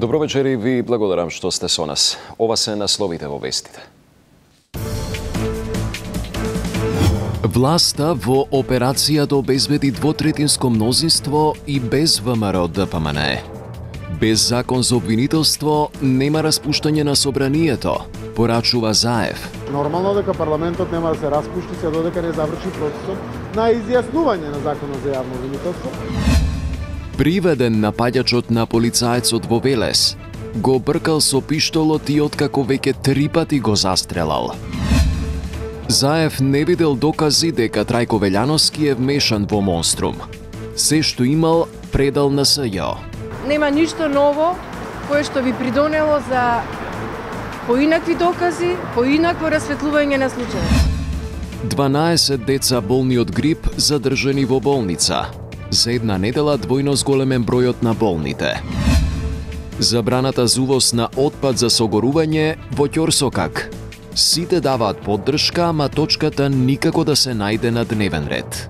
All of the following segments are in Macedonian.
Добро вечер и ви благодарам што сте со нас. Ова се насловите во вестите. Власта во операцијата обезбеди двотретинско мнозинство и без ВМРО ДПМН. Без закон за обвинителство нема распуштање на собранието, порачува Заев. Нормално дека парламентот нема да се распушти се додека не заврши процесот на изјаснување на законот за јавно обвинителство. Приведен напаѓачот на полицаецот во Велес го бркал со пиштолот и откако веќе 3 пати го застрелал. Заев не видел докази дека Трајко Велјановски е вмешан во монструм. Се што имал предал на СЈО. Нема ништо ново кое што би придонело за поинакви докази, поинакво расветлување на случајот. 12 деца болни од грип задржани во болница. За една недела двојно зголемен бројот на болните. Забраната за увоз на отпад за согорување во Ќорсокак. Сите даваат поддршка, ама точката никако да се најде на дневен ред.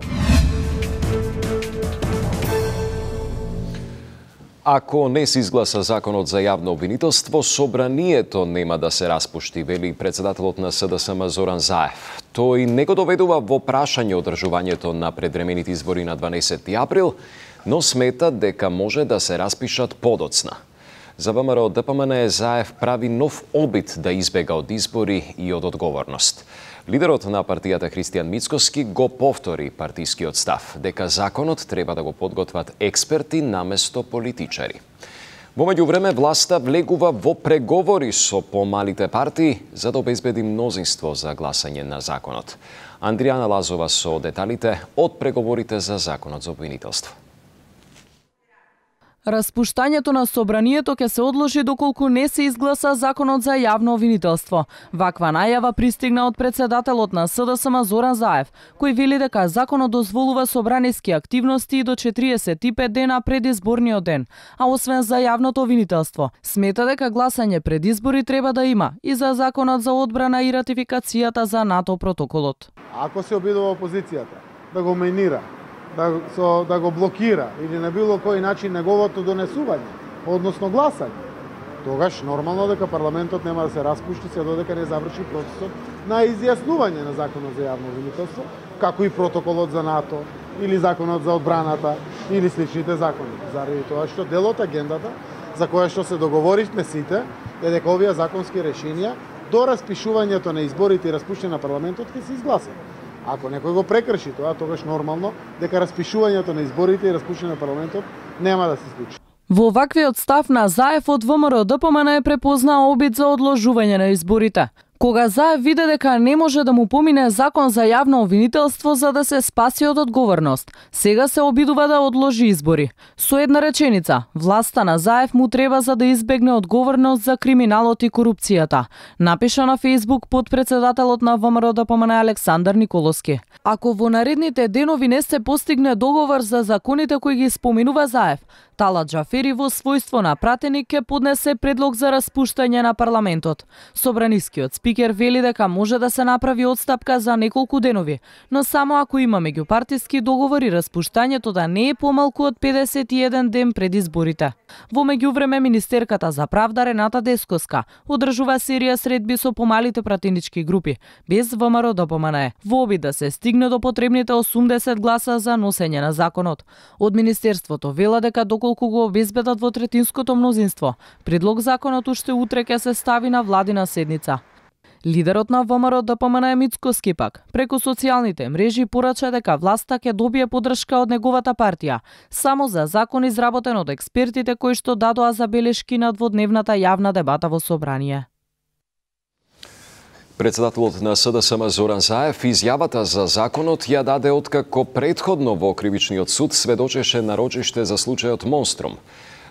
Ако не се изгласа законот за јавно обвинителство, собранието нема да се распушти, вели председателот на СДСМ Зоран Заев. Тој не го доведува во прашање одржувањето на предвремените избори на 12 април, но смета дека може да се распишат подоцна. За ВМРО ДПМН Заев прави нов обид да избега од избори и од одговорност. Лидерот на партијата Христијан Мицкоски го повтори партискиот став, дека законот треба да го подготват експерти наместо политичари. Во меѓувреме власта влегува во преговори со помалите партии за да обезбеди мнозинство за гласање на законот. Андријана Лазова со деталите од преговорите за законот за обвинителство. Распуштањето на собранието ќе се одложи доколку не се изгласа законот за јавно обвинителство. Ваква најава пристигна од председателот на СДСМ Зоран Заев, кој вели дека законот дозволува собраниски активности и до 45 дена пред изборниот ден, а освен за јавното обвинителство, смета дека гласање пред избори треба да има и за законот за одбрана и ратификацијата за НАТО протоколот. Ако се обидува опозицијата да го менира, да го блокира или на било кој начин неговото донесување, односно гласање, тогаш нормално дека парламентот нема да се распушти се додека не заврши процесот на изјаснување на законот за јавно обвинителство, како и протоколот за НАТО или законот за одбраната или сличните закони. Заради тоа што дел од агендата за која што се договоривме сите е дека овие законски решенија до распишувањето на изборите и распуштање на парламентот ќе се изгласат. Ако некој го прекрши тоа, тогаш нормално дека распишувањето на изборите и распуштање на парламентот нема да се случи. Во ваквиот став на Заев од ВМРО ДПМН е препознаа обид за одложување на изборите. Кога Заев виде дека не може да му помине закон за јавно обвинителство за да се спаси од одговорност, сега се обидува да одложи избори. Со една реченица, власта на Заев му треба за да избегне одговорност за криминалот и корупцијата, напиша на Facebook подпредседателот на ВМРО ДПМН Александар Николовски. Ако во наредните денови не се постигне договор за законите кои ги споменува Заев, Талат Џафери во својство на пратеник ќе поднесе предлог за распуштање на парламентот. Собранискиот спикер вели дека може да се направи одстапка за неколку денови, но само ако има меѓупартиски договор и распуштањето да не е помалку од 51 ден пред изборите. Во меѓувреме министерката за правда Рената Десковска одржува серија средби со помалите пратенички групи, без ВМРО ДПМН, во обид да се стигне до потребните 80 гласа за носење на законот. Од министерството вела дека доколку го обезбедат во третинското мнозинство, предлог законот уште утре ќе се стави на владина седница. Лидерот на ВМРО ДПМН Мицкоски пак, преку социјалните мрежи порача дека власта ќе добие поддршка од неговата партија, само за закон изработен од експертите кои што дадоа забелешки на дводневната јавна дебата во собрание. Председателот на СДСМ Зоран Заев изјавата за законот ја даде откако претходно во Кривичниот суд сведочеше на рочиште за случајот Монструм.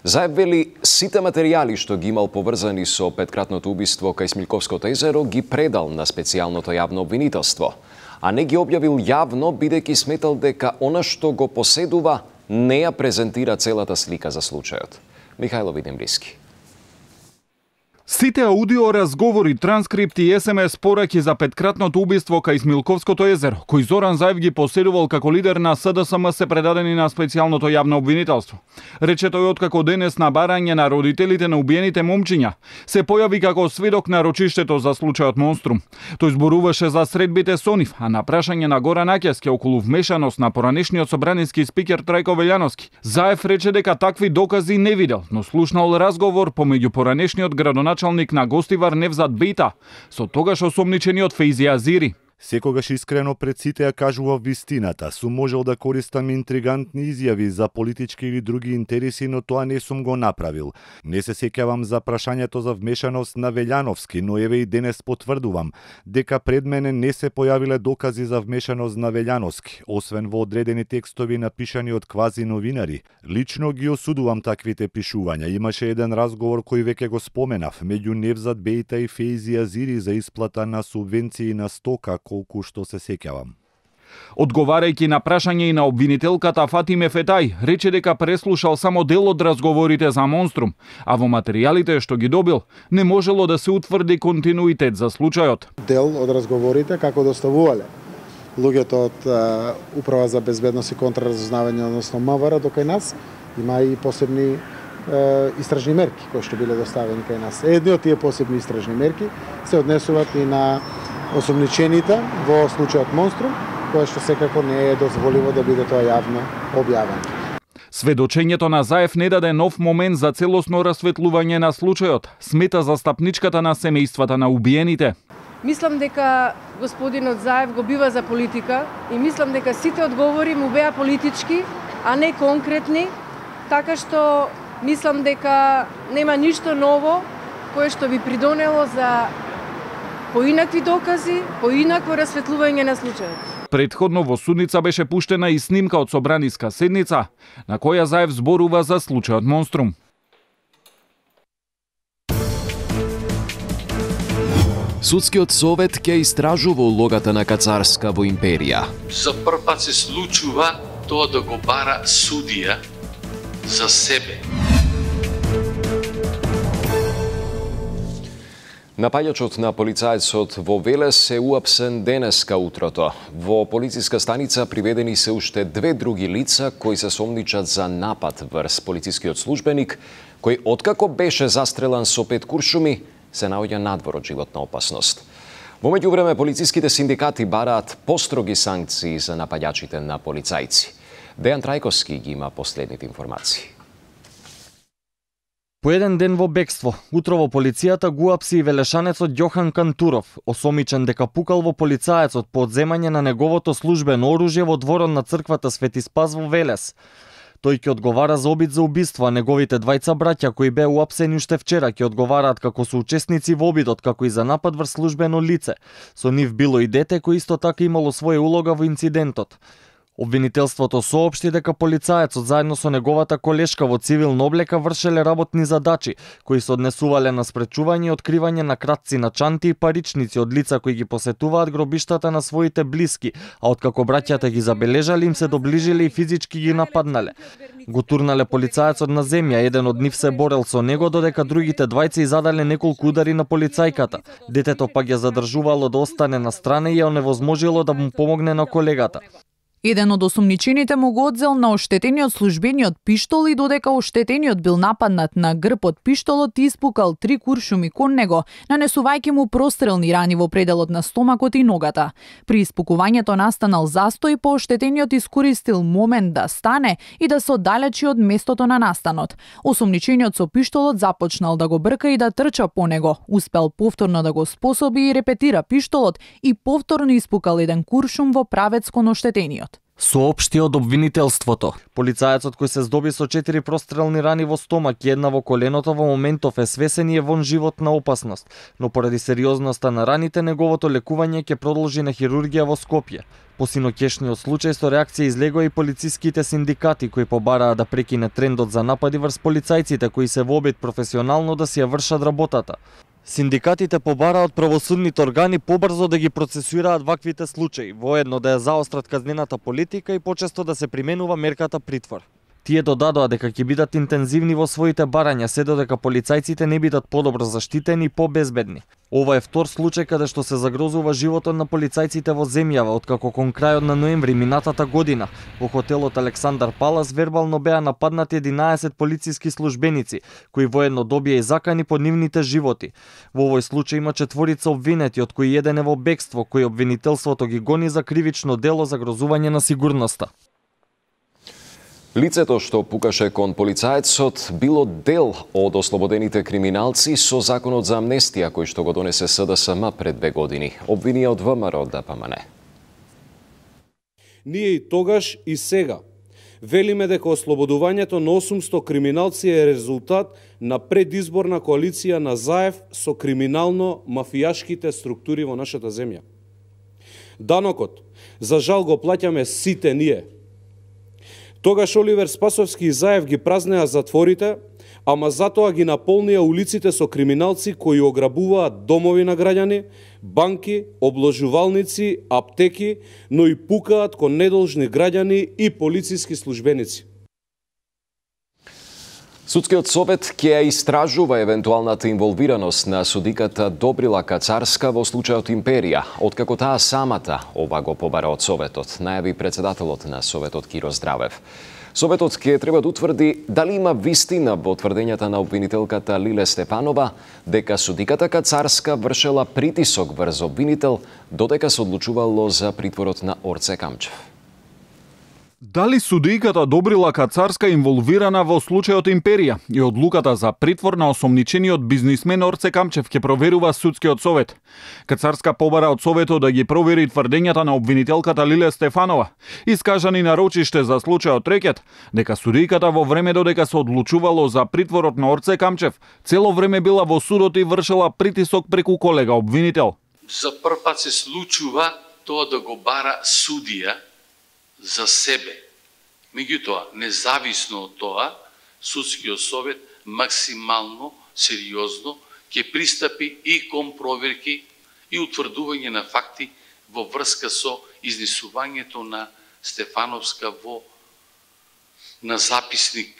Заев вели сите материјали што ги имал поврзани со петкратното убиство кај Смилковското езеро ги предал на специјалното јавно обвинителство, а не ги објавил јавно бидејќи сметал дека она што го поседува не ја презентира целата слика за случајот. Михајло Видимриски. Сите аудио разговори, транскрипти и СМС пораки за петкратното убиство кај Смилковското езеро, кој Зоран Заев ги поседувал како лидер на СДСМ, се предадени на специјалното јавно обвинителство. Рече тој откако денес на барање на родителите на убиените момчиња се појави како сведок на рочиштето за случајот Монструм. Тој зборуваше за средбите со нив, а на прашање на Горан Аќевски околу вмешаност на поранешниот собранински спикер Трајко Велјановски, Заев рече дека такви докази не видел, но слушнал разговор помеѓу поранешниот градоначалник на Гостивар Невзат Бејта со тогаш осомничениот Фейзи Азири. Секогаш искрено пред сите ја кажував вистината. Сум можел да користам интригантни изјави за политички или други интереси, но тоа не сум го направил. Не се сеќавам за прашањето за вмешаност на Велјановски, но еве и денес потврдувам дека пред мене не се појавиле докази за вмешаност на Велјановски, освен во одредени текстови напишани од квази новинари. Лично ги осудувам таквите пишувања. Имаше еден разговор кој веќе го споменав меѓу Невзат Бејта и Фейзи Азири за исплата на субвенции на стока, колку што се сеќавам. Одговарајќи на прашање и на обвинителката Фатиме Фетај, рече дека преслушал само дел од разговорите за Монструм, а во материјалите што ги добил не можело да се утврди континуитет за случајот. Дел од разговорите како доставувале луѓето од Управа за безбедност и контраразузнавање, односно МВР, до кај нас има и посебни истражни мерки кои што биле доставени кај нас. Едни од тие посебни истражни мерки се однесуваат и на осомничените во случајот Монструм, кое што секако не е дозволиво да биде тоа јавно објавено. Сведочењето на Заев не даде нов момент за целосно расветлување на случајот, смета застапничката на семејствата на убиените. Мислам дека господинот Заев го бива за политика и мислам дека сите одговори му беа политички, а не конкретни, така што мислам дека нема ништо ново кое што би придонело за поинакви докази, поинакво расветлување на случајот. Претходно во судница беше пуштена и снимка од собраниска седница, на која Заев зборува за случајот Монструм. Судскиот совет ќе истражува улогата на Кацарска во империја. За прв пат се случува тоа да го бара судија за себе. Напаѓачот на полицајецот во Велес е уапсен денеска утрото. Во полициска станица приведени се уште две други лица кои се сомничат за напад врз полицискиот службеник, кој откако беше застрелан со 5 куршуми, се наоѓа надвор од животна опасност. Во меѓувреме полициските синдикати бараат построги санкции за напаѓачите на полицајци. Дејан Трајковски ги има последните информации. По еден ден во бегство, утро во полицијата го апси и велешанецот Јохан Кантуров, осомичен дека пукал во полицаецот по одземање на неговото службено оружје во дворот на црквата Свети Спас во Велес. Тој ќе одговара за обид за убиство, а неговите двајца браќа кои беа уапсени уште вчера ќе одговараат како соучесници во обидот, како и за напад врз службено лице. Со нив било и дете кој исто така имало своја улога во инцидентот. Обвинителството соопшти дека полицаецот заедно со неговата колешка во цивилна облека вршеле работни задачи, кои се однесувале на спречување и откривање на кратци на чанти и паричници од лица кои ги посетуваат гробиштата на своите блиски, а откако браќата ги забележале им се доближиле и физички ги нападнале. Го турнале полицаецот на земја, еден од нив се борел со него, додека другите двајца задале неколку удари на полицајката. Детето пак ја задржувало да остане на страна и ја оневозможило да му помогне на колегата. Еден од осомничените му го одзел на оштетениот службениот пиштол и додека оштетениот бил нападнат на грб од пиштолот и испукал 3 куршуми кон него, нанесувајќи му прострелни рани во пределот на стомакот и ногата. При испукувањето настанал застој, по оштетениот искористил момент да стане и да се оддалечи од местото на настанот. Осомничениот со пиштолот започнал да го брка и да трча по него, успел повторно да го способи и репетира пиштолот и повторно испукал еден куршум во правец кон оштетениот. Соопшти од обвинителството. Полицаецот кој се здоби со 4 прострелни рани во стомак и една во коленото во моментов е свесен и е вон животна опасност, но поради сериозноста на раните неговото лекување ќе продолжи на хирургија во Скопје. По синокешниот случај со реакција излегоа и полициските синдикати кои побараа да прекине трендот за напади врз полицајците кои се во обид професионално да си ја вршат работата. Синдикатите побараат правосудните органи побрзо да ги процесуираат ваквите случаи, воедно да ја заострат казнената политика и почесто да се применува мерката притвор. Тие додадоа дека ќе бидат интензивни во своите барања се додека полицајците не бидат подобро заштитени и побезбедни. Ова е втор случај каде што се загрозува животот на полицајците во земјава, откако кон крајот на ноември минатата година во хотелот Александар Палас вербално беа нападнати 11 полициски службеници, кои воедно добија и закани по нивните животи. Во овој случај има 4 обвинети, од кои еден е во бегство, кој обвинителството ги гони за кривично дело загрозување на сигурноста. Лицето што пукаше кон полицаецот било дел од ослободените криминалци со законот за амнестија кој што го донесе СДСМ пред 2 години. Обвини од ВМРО ДПМН. Ние и тогаш и сега велиме дека ослободувањето на 800 криминалци е резултат на предизборна коалиција на ЗАЕВ со криминално-мафијашките структури во нашата земја. Данокот, за жал, го плаќаме сите ние. Тогаш Оливер Спасовски и ЗАЕВ ги празнеа затворите, ама затоа ги наполнија улиците со криминалци кои ограбуваат домови на граѓани, банки, обложувалници, аптеки, но и пукаат кон недолжни граѓани и полициски службеници. Судскиот совет ќе ја истражува евентуалната инволвираност на судиката Добрила Кацарска во случајот Империја, откако таа самата ова го побара од Советот, најави председателот на Советот Киро Здравев. Советот ќе треба да утврди дали има вистина во тврдењата на обвинителката Лиле Стефанова дека судиката Кацарска вршела притисок врз обвинител додека се одлучувало за притворот на Орце Камчев. Дали судијката Добрила Кацарска инволвирана во случајот Империја и одлуката за притвор на осомничениот бизнисмен Орце Камчев ќе проверува судскиот совет. Кацарска побара од советот да ги провери тврдењата на обвинителката Лиле Стефанова, искажани на рочиште за случајот Рекет, дека судијката во време додека се одлучувало за притворот на Орце Камчев, цело време била во судот и вршела притисок преку колега обвинител. За прв пат се случува тоа да го бара судија за себе. Меѓутоа, независно од тоа, судскиот совет максимално сериозно ќе пристапи и кон проверки и утврдување на факти во врска со изнесувањето на Стефановска на записник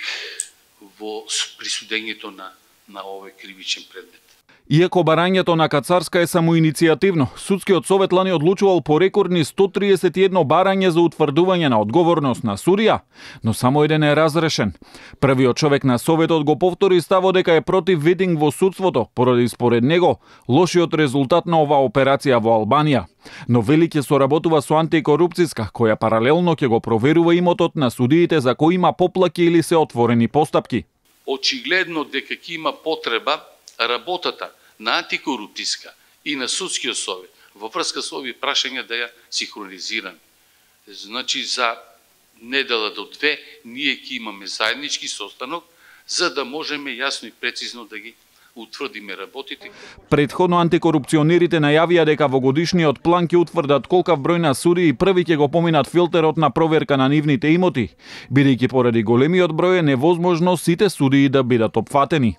во присудењето на овој кривичен предмет. Иако барањето на Кацарска е самоиницијативно, судскиот совет лани одлучувал по рекордни 131 барање за утврдување на одговорност на судија, но само еден е разрешен. Првиот човек на советот го повтори ставот дека е против ветинг во судството, поради според него лошиот резултат на оваа операција во Албанија. Но вели ќе соработува со антикорупцијска, која паралелно ќе го проверува имотот на судиите за кои има поплаки или се отворени постапки. Очигледно дека ќе има потреба работата на антикорупцијска и на судскиот совет во врска со овие прашања да ја синхронизираме. Значи за недела до 2 ние ќе имаме заеднички состанок за да можеме јасно и прецизно да ги утврдиме работите. Претходно антикорупционерите најавија дека во годишниот план ќе утврдат колкав број на судии први ќе го поминат филтерот на проверка на нивните имоти, бидејќи поради големиот број е невозможно сите судии да бидат опфатени.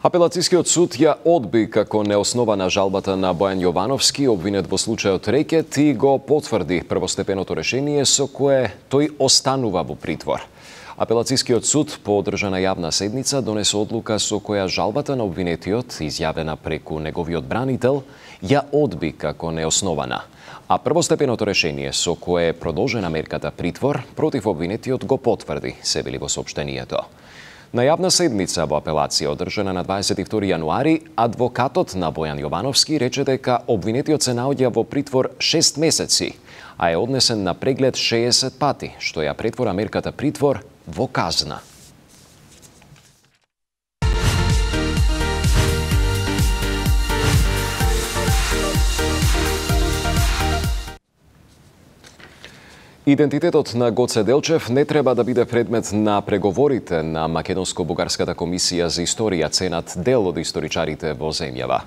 Апелацијскиот суд ја одби како неоснована жалбата на Бојан Јовановски, обвинет во случајот Рекет, и го потврди првостепеното решение со кое тој останува во притвор. Апелацијскиот суд по одржана јавна седница донесе одлука со која жалбата на обвинетиот, изјавена преку неговиот бранител, ја одби како неоснована. А првостепеното решение со кое е продолжена мерката притвор против обвинетиот го потврди, се вели во соопштението. На јавна седница во апелација одржана на 22 јануари, адвокатот на Бојан Јовановски рече дека обвинетиот се наоѓа во притвор 6 месеци, а е однесен на преглед 60 пати, што ја претвора мерката притвор во казна. Идентитетот на Гоце Делчев не треба да биде предмет на преговорите на Македонско-Бугарската комисија за историја, ценат дел од историчарите во земјава.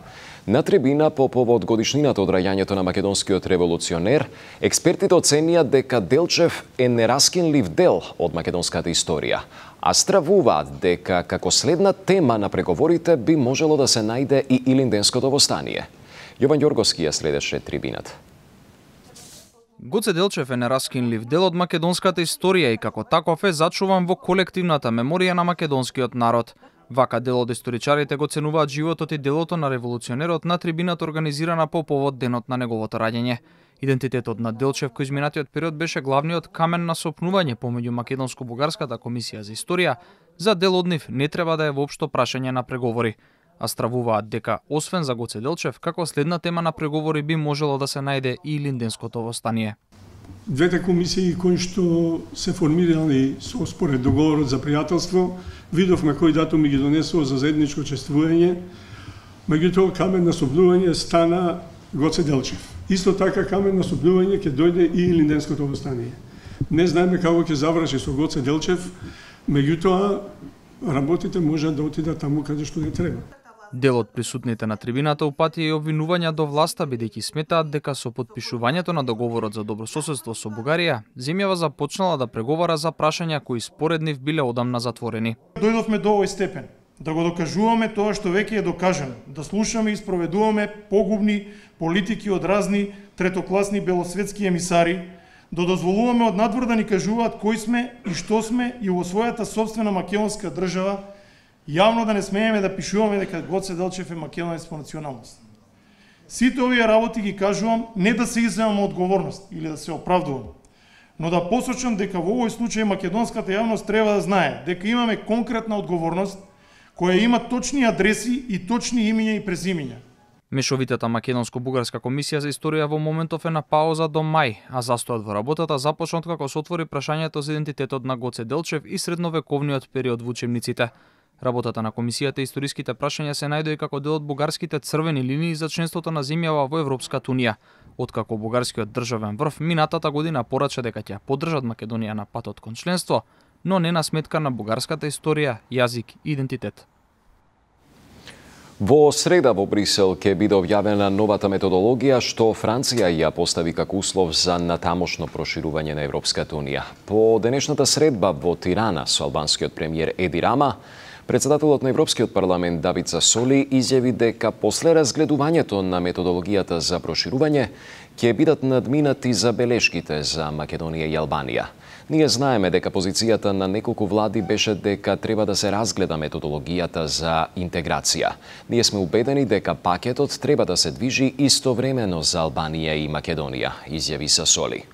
На трибина по повод годишнината од раѓањето на македонскиот револуционер, експертите оценија дека Делчев е нераскинлив дел од македонската историја, а стравуваат дека како следна тема на преговорите би можело да се најде и Илинденското востание. Јован Ѓорговски ја следеше трибината. Гоце Делчев е нераскинлив дел од македонската историја и како таков е зачуван во колективната меморија на македонскиот народ. Вака дел од историчарите го ценуваат животот и делото на револуционерот на трибината организирана по повод денот на неговото раѓање. Идентитетот на Делчев кој изминатиот период беше главниот камен на сопнување помеѓу Македонско-бугарската комисија за историја, за дел од нив не треба да е воопшто прашање на преговори. А стравуваат дека, освен за Гоце Делчев, како следна тема на преговори би можело да се најде и Илинденското востание. Двете комисии кои што се формирани со според договорот за пријателство, видовме кој датуми ги донесува за заедничко учествување, меѓутоа камен на сопнување стана Гоце Делчев. Исто така камен на сопнување ќе дојде и Илинденското востание. Не знаеме како ќе заврши со Гоце Делчев, меѓутоа работите можат да отидат таму каде што не треба. Дел од присутните на трибината упати и обвинувања до власта, бидејќи сметаат дека со потпишувањето на договорот за добрососедство со Бугарија, земјава започнала да преговара за прашања кои според нив биле одамна затворени. Дојдовме до овој степен, да го докажуваме тоа што веќе е докажано, да слушаме и спроведуваме погубни политики од разни третокласни белосветски емисари, да дозволуваме од надвор да ни кажуваат кои сме и што сме и во својата собствена македонска држава, јавно да не смееме да пишуваме дека Гоце Делчев е македонец по националност. Сите овие работи ги кажувам не да се изземам одговорност или да се оправдувам, но да посочам дека во овој случај македонската јавност треба да знае дека имаме конкретна одговорност која има точни адреси и точни имиња и презимиња. Мешовитата Македонско-бугарска комисија за историја во моментов е на пауза до мај, а застојот во работата започнат како се отвори прашањето за идентитетот на Гоце Делчев и средновековниот период во учебниците. Работата на комисијата и историските прашања се најдои како дел од бугарските црвени линии за членството на земјава во Европската унија, откако бугарскиот државен врв минатата година порача дека ќе поддржат Македонија на патот кон членство, но не на сметка на бугарската историја, јазик и идентитет. Во среда во Брисел ќе биде објавена новата методологија што Франција ја постави како услов за натамошно проширување на Европската унија. По денешната средба во Тирана со албанскиот премиер Еди Рама, председателот на Европскиот парламент Давид Сасоли изјави дека после разгледувањето на методологијата за проширување ќе бидат надминати забелешките за Македонија и Албанија. Ние знаеме дека позицијата на неколку влади беше дека треба да се разгледа методологијата за интеграција. Ние сме убедени дека пакетот треба да се движи истовремено за Албанија и Македонија, изјави Сасоли.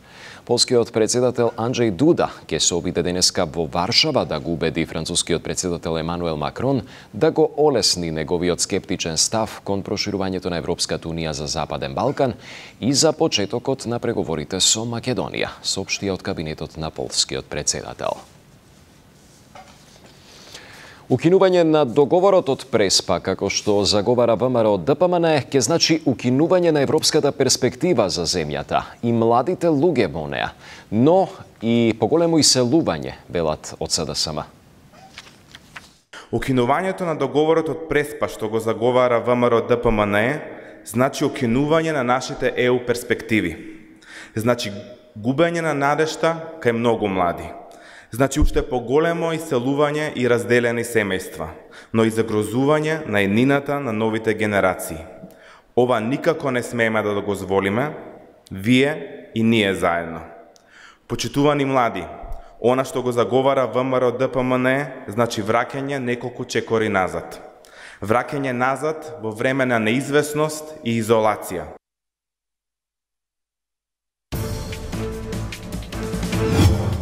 Полскиот председател Анджеј Дуда ќе се обиде денеска во Варшава да го убеди францускиот председател Емануел Макрон да го олесни неговиот скептичен став кон проширувањето на Европската унија за Западен Балкан и за почетокот на преговорите со Македонија, соопштија од кабинетот на полскиот председател. Укинување на договорот од Преспа, како што заговара ВМРО ДПМН, ќе значи укинување на европската перспектива за земјата и младите луѓе во неа, но и поголемо иселување, велат од СДСМ. Укинувањето на договорот од Преспа, што го заговара ВМРО ДПМН, значи укинување на нашите ЕУ перспективи. Значи губење на надежта кај многу млади. Значи уште поголемо иселување и разделени семејства, но и загрозување на еднината на новите генерации. Ова никако не смееме да го дозволиме, вие и ние заедно. Почитувани млади, она што го заговара ВМРО ДПМН значи враќање неколку чекори назад. Враќање назад во време на неизвестност и изолација.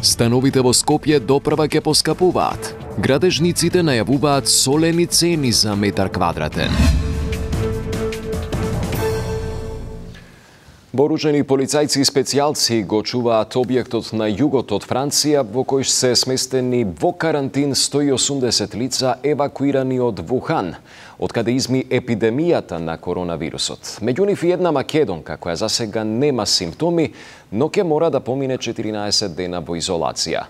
Становите во Скопје допрва ќе поскапуваат. Градежниците најавуваат солени цени за метар квадратен. Вооружени полицајци и специјалци го чуваат објектот на југот од Франција во кој се сместени во карантин 180 лица евакуирани од Вухан, од каде изми епидемијата на коронавирусот. Меѓу нив и една македонка која засега нема симптоми, но ќе мора да помине 14 дена во изолација.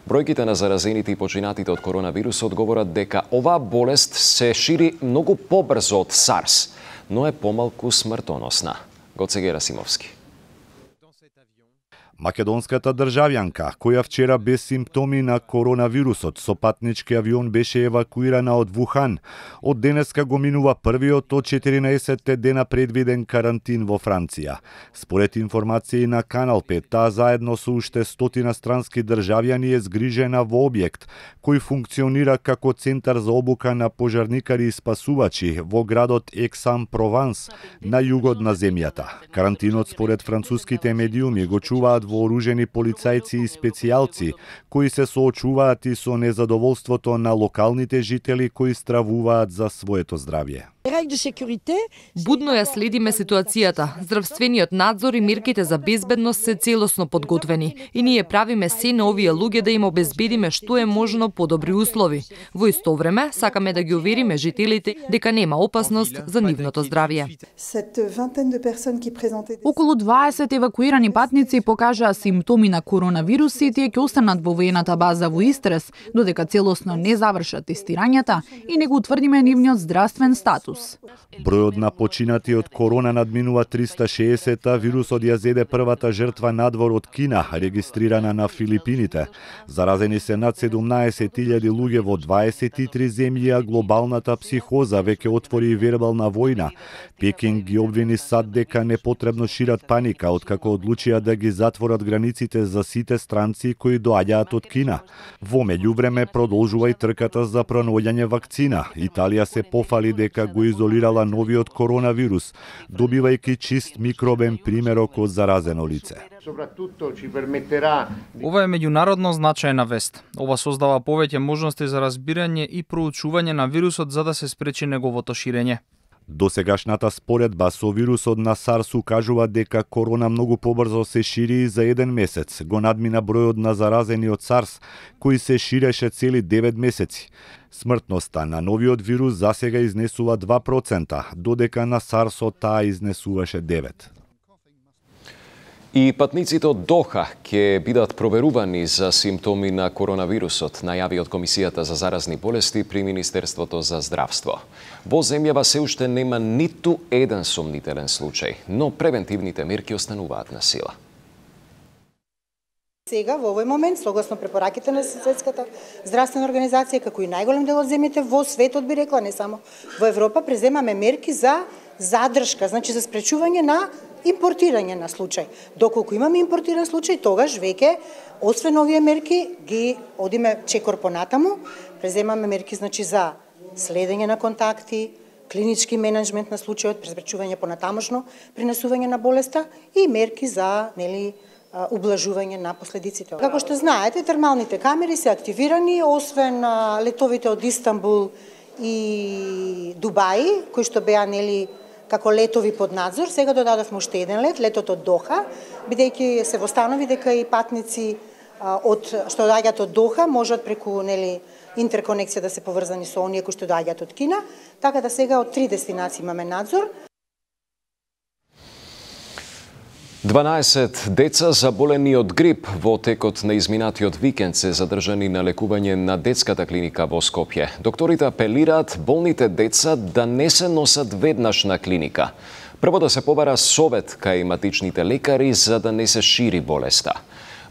Бројките на заразените и починатите од коронавирусот говорат дека оваа болест се шири многу побрзо од SARS, но е помалку смртоносна. Гоце Герасимовски. Македонската државјанка, која вчера без симптоми на коронавирусот со патнички авион беше евакуирана од Вухан, од денеска го минува првиот од 14 дена предвиден карантин во Франција. Според информации на Канал 5, таа заедно со уште 100 странски државјани е згрижена во објект кој функционира како центар за обука на пожарникари и спасувачи во градот Ексан-Прованс на југот на земјата. Карантинот според француските медиуми го чуваат вооружени полицајци и специјалци кои се соочуваат и со незадоволството на локалните жители кои стравуваат за своето здравје. Будно ја следиме ситуацијата. Здравствениот надзор и мерките за безбедност се целосно подготвени и ние правиме се на овие луѓе да им обезбедиме што е можно подобри услови. Во исто време сакаме да ги увериме жителите дека нема опасност за нивното здравје. Околу 20 евакуирани патници покажаа симптоми на коронавирус и тие ќе останат во воената база во Истрес, додека целосно не завршат тестирањата и не го утврдиме нивниот здравствен статус. Бројот на починати од корона надминува 360, а вирусот ја зеде првата жртва надвор од Кина, регистрирана на Филипините. Заразени се над 17.000 луѓе во 23 земји, а глобалната психоза веќе отвори вербална војна. Пекинг ги обвини САД дека непотребно шират паника, откако одлучија да ги затворат границите за сите странци кои доаѓаат од Кина. Во меѓувреме продолжува и трката за пронаоѓање вакцина. Италија се пофали дека го изолирала новиот коронавирус, добивајќи чист микробен примерок од заразено лице. Ова е меѓународно значајна вест. Ова создава повеќе можности за разбирање и проучување на вирусот за да се спречи неговото ширење. Досегашната споредба со вирусот на SARS укажува дека корона многу побрзо се шири и за еден месец. Го надмина бројот на заразени од SARS, кој се ширеше цели 9 месеци. Смртноста на новиот вирус засега изнесува 2%, додека на SARS-от таа изнесуваше 9%. И патниците од Доха ќе бидат проверувани за симптоми на коронавирусот, најави од Комисијата за заразни болести при Министерството за здравство. Во земјава се уште нема ниту еден сомнителен случај, но превентивните мерки остануваат на сила. Сега, во овој момент, согласно препораките на Светската здравствена организација, како и најголем дел од земјите во светот, би рекла, не само во Европа, преземаме мерки за задршка, значи за спречување на импортирање на случај. Доколку имаме импортиран случај, тогаш веќе, освен овие мерки, ги одиме чекор понатаму, преземаме мерки значи за следење на контакти, клинички менеджмент на случајот, спречување понатамошно пренесување на болеста и мерки за, ублажување на последиците. Како што знаете, термалните камери се активирани, освен летовите од Истанбул и Дубај, кои што беа како летови под надзор, сега додадовме уште еден лет, летот од Доха, бидејќи се востанови дека и патници што доаѓаат од Доха можат преку интерконекција да се поврзани со оние кои што доаѓаат од Кина, така да сега од 3 дестинации имаме надзор. 12 деца заболени од грип во текот на изминатиот викенд се задржани на лекување на детската клиника во Скопје. Докторите апелираат болните деца да не се носат веднаш на клиника. Прво да се побара совет кај матичните лекари за да не се шири болеста.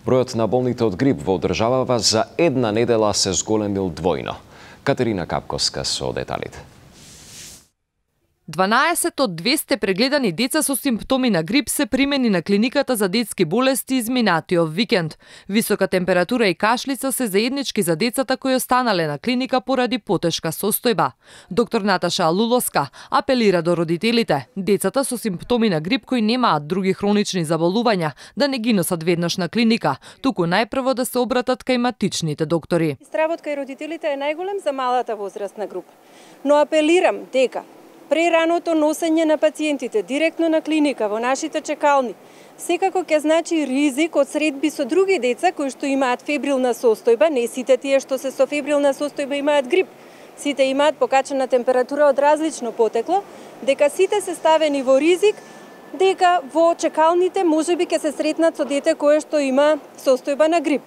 Бројот на болните од грип во државава за една недела се зголемил двојно. Катерина Капковска со деталите. 12 од 200 прегледани деца со симптоми на грип се примени на клиниката за детски болести изминатиот викенд. Висока температура и кашлица се заеднички за децата кои останале на клиника поради потешка состојба. Доктор Наташа Алулоска апелира до родителите, децата со симптоми на грип кои немаат други хронични заболувања, да не ги носат веднаш на клиника, туку најпрво да се обратат кај матичните доктори. Стравот кај родителите е најголем за малата возрастна група. Но апелирам дека прераното носење на пациентите директно на клиника во нашите чекални секако ќе значи ризик од средби со други деца кои што имаат фебрилна состојба, не сите тие што се со фебрилна состојба имаат грип. Сите имаат покачена температура од различно потекло, дека сите се ставени во ризик, дека во чекалните можеби ќе се сретнат со дете кое што има состојба на грип.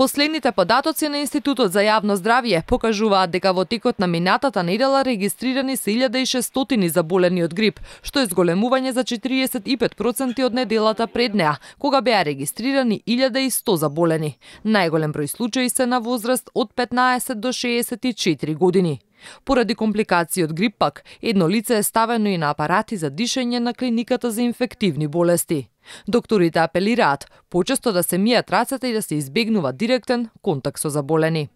Последните податоци на Институтот за јавно здравје покажуваат дека во текот на минатата недела регистрирани се 1600 заболени од грип, што е зголемување за 45% од неделата пред неа, кога беа регистрирани 1100 заболени. Најголем број случаи се на возраст од 15 до 64 години. Поради компликации од грип пак, едно лице е ставено и на апарати за дишење на клиниката за инфективни болести. Докторите апелираат почесто да се мијат рацете и да се избегнува директен контакт со заболени.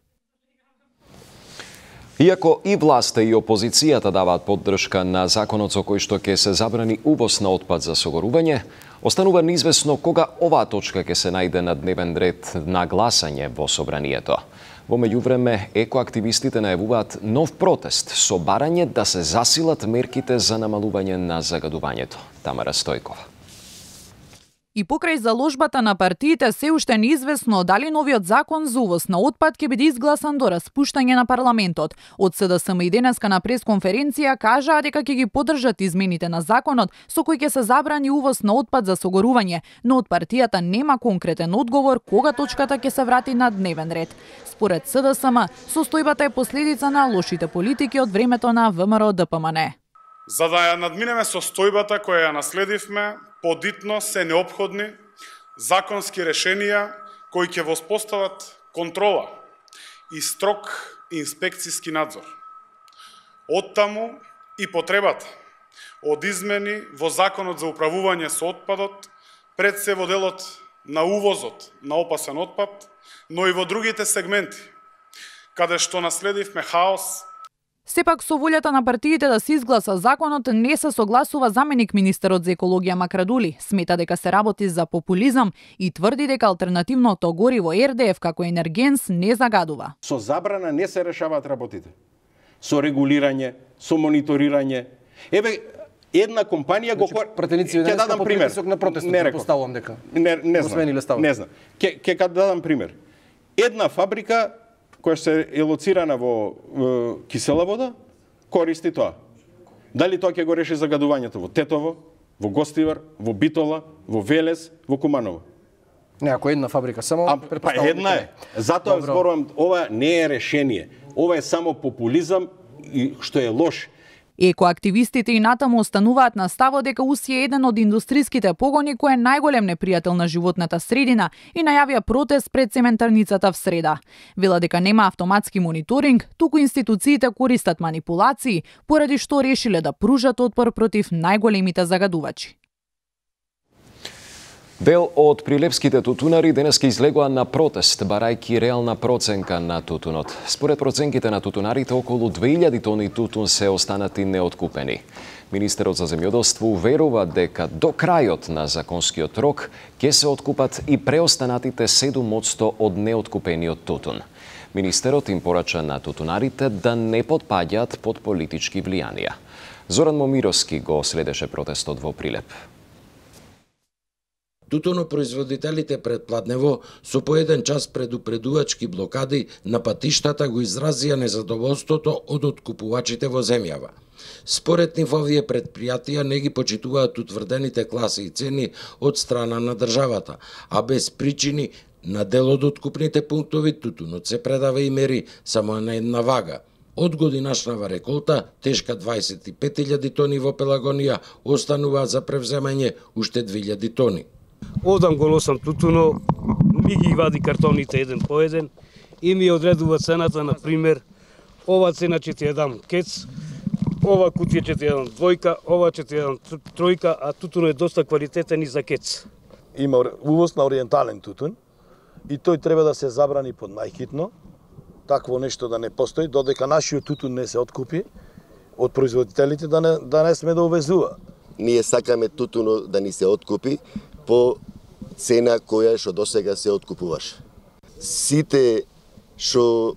Иако и власта и опозицијата даваат поддршка на законот со кој што ќе се забрани увоз на отпад за согорување, останува неизвестно кога оваа точка ќе се најде на дневен ред на гласање во собранието. Во меѓувреме, екоактивистите најавуваат нов протест со барање да се засилат мерките за намалување на загадувањето. Тамара Стојкова. И покрај заложбата на партиите се уште неизвестно дали новиот закон за увоз на отпад ќе биде изгласан до распуштање на парламентот. Од СДСМ и денеска на пресконференција кажаа дека ќе ги поддржат измените на законот со кој ќе се забрани увоз на отпад за согорување, но од партијата нема конкретен одговор кога точката ќе се врати на дневен ред. Според СДСМ, состојбата е последица на лошите политики од времето на ВМРО-ДПМН. За да ја надминеме состојбата која ја наследивме, подитно се неопходни законски решенија кои ќе воспостават контрола и строг инспекциски надзор. Оттаму и потребата од измени во законот за управување со отпадот, пред се во делот на увозот на опасен отпад, но и во другите сегменти, каде што наследивме хаос. Сепак со волјата на партиите да се изгласа законот не се согласува заменик министерот за екологија Макрадули. Смета дека се работи за популизам и тврди дека алтернативното гориво РДФ како енергенс не загадува. Со забрана не се решаваат работите. Со регулирање, со мониторирање. Еве, една компанија го ќе дадам пример на протестот, не поставувам дека. Не знам. Ќе дадам пример. Една фабрика која се е лоцирана во кисела вода, користи тоа. Дали тоа ќе го реши загадувањето во Тетово, во Гостивар, во Битола, во Велес, во Куманово? Не, ако една фабрика само... Па една е. Затоа зборувам, ова не е решение. Ова е само популизам, што е лош. Екоактивистите и натаму остануваат на ставот дека УС е еден од индустриските погони кој е најголем непријател на животната средина и најавија протест пред цементарницата в среда. Вела дека нема автоматски мониторинг, туку институциите користат манипулации, поради што решиле да пружат отпор против најголемите загадувачи. Дел од прилепските тутунари денеска излегоа на протест, барајки реална проценка на тутунот. Според проценките на тутунарите, околу 2000 тони тутун се останати неоткупени. Министерот за земјоделство уверува дека до крајот на законскиот рок ќе се откупат и преостанатите 7% од неоткупениот тутун. Министерот им порача на тутунарите да не потпаѓаат под политички влијанија. Зоран Момировски го следеше протестот во Прилеп. Тутунопроизводителите пред Пладнево со по еден час предупредувачки блокади на патиштата го изразија незадоволството од откупувачите во земјава. Според нив овие предпријатија не ги почитуваат утврдените класи и цени од страна на државата, а без причини на дел од откупните пунктови тутунот се предава и мери само на една вага. Од годинашнава реколта, тешка 25.000 тони во Пелагонија, останува за превземање уште 2.000 тони. Одам го носам тутуно, ми ги вади картоните еден по еден и ми одредува цената, на пример, ова цена ќе ти ја дам кец, ова кутија ќе ти ја дам двојка, ова ќе ти ја дам тројка, а тутуно е доста квалитетен и за кец. Има увоз на ориентален тутун и тој треба да се забрани под најхитно, такво нешто да не постои, додека нашиот тутун не се откупи од производителите да не сме да увезува. Ние сакаме тутуно да ни се откупи по цена која што досега се откупуваше. Сите што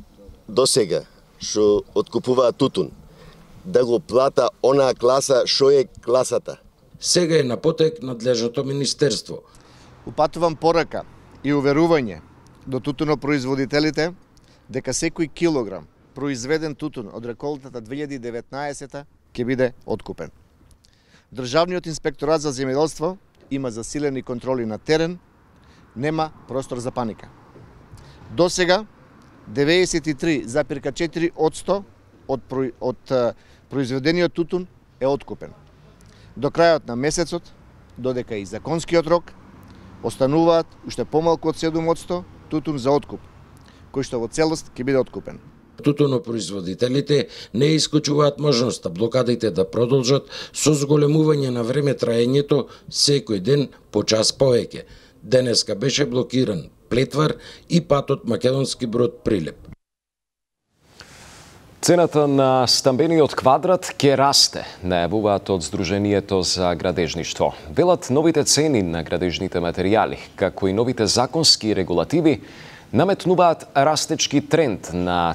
досега што откупуваат тутун да го плата онаа класа што е класата. Сега е на потек надлежното министерство. Упатувам порака и уверување до тутунопроизводителите дека секој килограм произведен тутун од реколтата 2019 ќе биде откупен. Државниот инспекторат за земјоделство има засилени контроли на терен, нема простор за паника. До сега 93,4% од произведениот тутун е откупен. До крајот на месецот, додека и законскиот рок, остануваат уште помалку од 7% тутун за откуп, кој што во целост ќе биде откупен. Тутунопроизводителите не исклучуваат можноста блокадите да продолжат со зголемување на време траењето секој ден по час повеќе. Денеска беше блокиран Плетвар и патот Македонски Брод Прилеп. Цената на стамбениот квадрат ќе расте, најавуваат од Сдруженијето за градежништво. Велат новите цени на градежните материјали, како и новите законски регулативи, наметнуваат растечки тренд на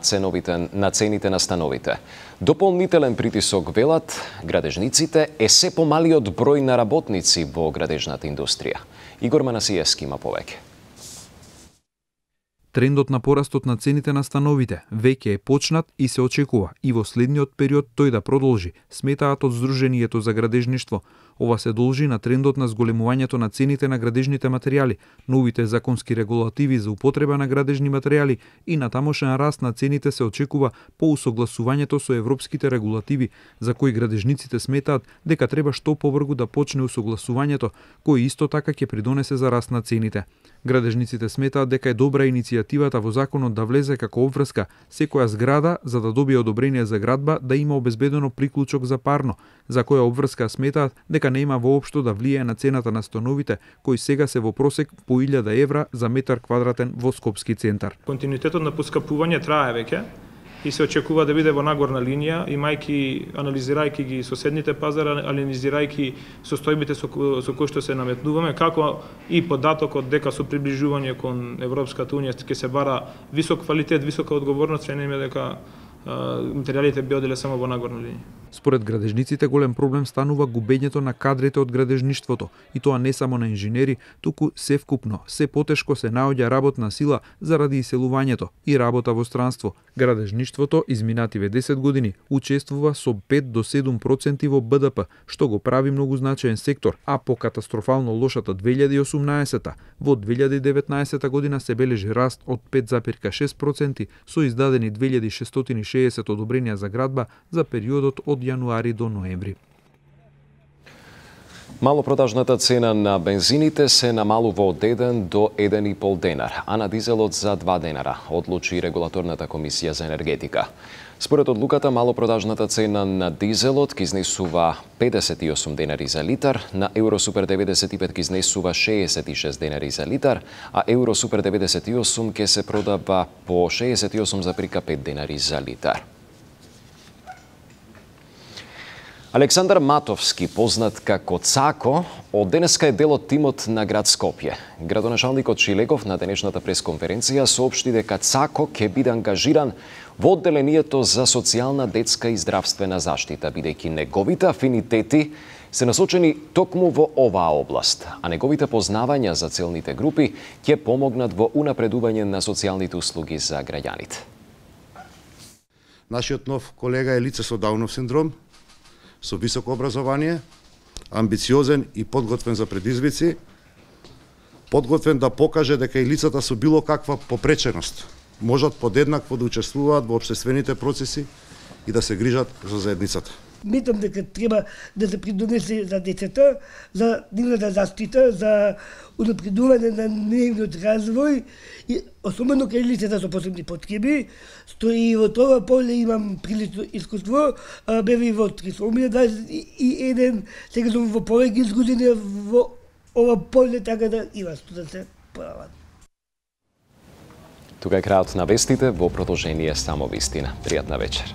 цените на становите. Дополнителен притисок, велат градежниците, е се помалиот број на работници во градежната индустрија. Игор Манасиевски има повеќе. Трендот на порастот на цените на становите веќе е почнат и се очекува и во следниот период тој да продолжи, сметаат од Сдруженијето за градежништво. Ова се должи на трендот на зголемувањето на цените на градежните материјали, новите законски регулативи за употреба на градежни материјали и на тамошен раст на цените се очекува по усогласувањето со европските регулативи, за кои градежниците сметаат дека треба што побрзо да почне усогласувањето, кој исто така ќе придонесе за раст на цените. Градежниците сметаат дека е добра иницијативата во законот да влезе како обврска секоја зграда за да добие одобрение за градба да има обезбедено приклучок за парно, за која обврска сметаат дека нема воопшто да влијае на цената на становите, кои сега се во просек по 1000 евра за метар квадратен во Скопски центар. Континуитетот на поскапување трае веќе и се очекува да биде во нагорна линија, анализирајќи ги соседните пазари, анализирајќи состојбите со кои што се наметнуваме, како и податокот дека со приближување кон Европската унија ќе се бара висок квалитет, висока одговорност, се нема дека материјалите би оделе само во нагорна линија. Според градежниците голем проблем станува губењето на кадрите од градежништвото, и тоа не само на инженери, туку севкупно, се потешко се наоѓа работна сила заради иселувањето и работа во странство. Градежништвото изминативе 10 години учествува со 5 до 7% во БДП, што го прави многу значаен сектор, а по катастрофално лошата 2018-та, во 2019 година се бележи раст од 5,6% со издадени 2660 одобренија за градба за периодот од јануари до ноември. Малопродажната цена на бензините се намалува од 1 до 1,5 денар, а на дизелот за 2 денара, одлучи Регулаторната комисија за енергетика. Според одлуката, малопродажната цена на дизелот ќе изнесува 58 денари за литар, на Евросупер 95 ќе изнесува 66 денари за литар, а Евросупер 98 ќе се продава по 68,5 денари за литар. Александар Матовски, познат како Цако, од денеска е дел од тимот на град Скопје. Градоначалникот Шилегов на денешната пресконференција соопшти дека Цако ќе биде ангажиран во одделението за социјална, детска и здравствена заштита, бидејќи неговите афинитети се насочени токму во оваа област, а неговите познавања за целните групи ќе помогнат во унапредување на социјалните услуги за граѓаните. Нашиот нов колега е лице со Даунов синдром, со високо образование, амбициозен и подготвен за предизвици, подготвен да покаже дека и лицата со било каква попреченост можат подеднакво да учествуваат во општествените процеси и да се грижат за заедницата. Мислам дека треба да се придонесе за децата, за нивната заштита, за унапредување на нивниот развој и особено кај лицата со посебни потреби. Стои во тоа поле имам прилично искуство, бев и во трисомија 21, сега сум во повеќе години во ова поле, така да има што да се прават. Тука е крајот на вестите, во продолжение само вистина. Пријатна вечер.